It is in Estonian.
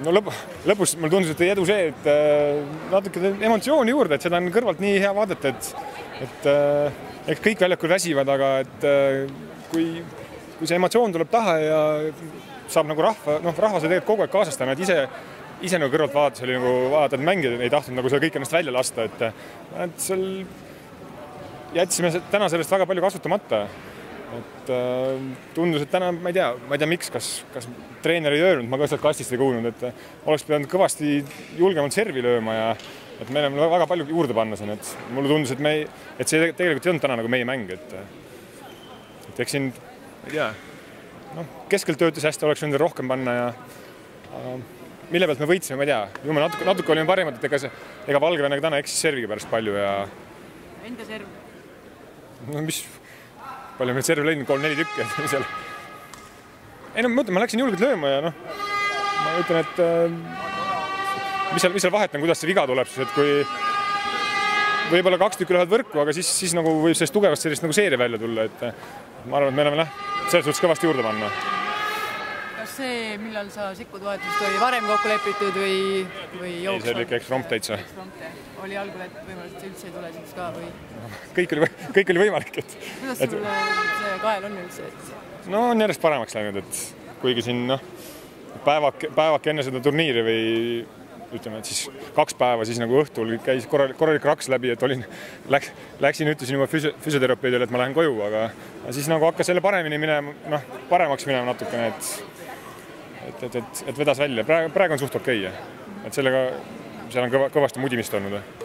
No lõpus mulle tundus, et edu see, et natuke emotsiooni juurde, et seda on kõrvalt nii hea vaadata, et eks kõik väljakul väsivad, aga et kui see emotsioon tuleb taha ja saab nagu rahvas tegelikult kogu aeg kaasastama, et ise nagu kõrvalt vaadates oli nagu vaadata, et mängijad ei tahtnud nagu seda kõik ennast välja lasta, et seal jätsime täna sellest väga palju kasutamata. Et tundus, et täna, ma ei tea miks, kas treener ei öelnud, ma ka sealt kastist ei kuulnud, et oleks pidanud kõvasti julgemalt servi lööma ja et meil on väga palju juurde panna siin, et mulle tundus, et see tegelikult ei olnud täna nagu meie mäng, et eks siin, ei tea, keskelt töötas hästi, oleks võinud rohkem panna ja mille pealt me võitsime, ma ei tea, jumal natuke olime parimad, et ega Valgevenega täna eksis serviga pärast palju ja enda serv? No mis palju meil servi leidnud, 3-4 tükki seal. Ei no ma läksin julgelt lööma ja ma ütlen, et mis seal vahet on, kuidas see viga tuleb, et kui võib-olla 2 tükki lähevad võrku, aga siis nagu võib sellest tugevast sellist nagu seeria välja tulla, et ma arvan, et me oleme selles suhtes kõvasti juurde panna. Kas see, millal sa sekkud vahetust, oli varem kokku lepitud või jooksval? Ei, see oli ikka eksprompt täitsa. Oli algul, et võimalik üldse ei tule siis ka või? Kõik oli võimalik. Kuidas sul see kael on üldse? No on järjest paremaks läinud, et kuigi siin päevak enne seda turniiri või ütleme, et siis 2 päeva siis nagu õhtul käis korralik raks läbi, et läksin, ütlesin juba füsioterapeudile, et ma lähen koju, aga siis nagu hakkas selle paremaks minema natukene, et vedas välja. Praegu on suht okei, et sellega seal on kõvasti mudimist olnud.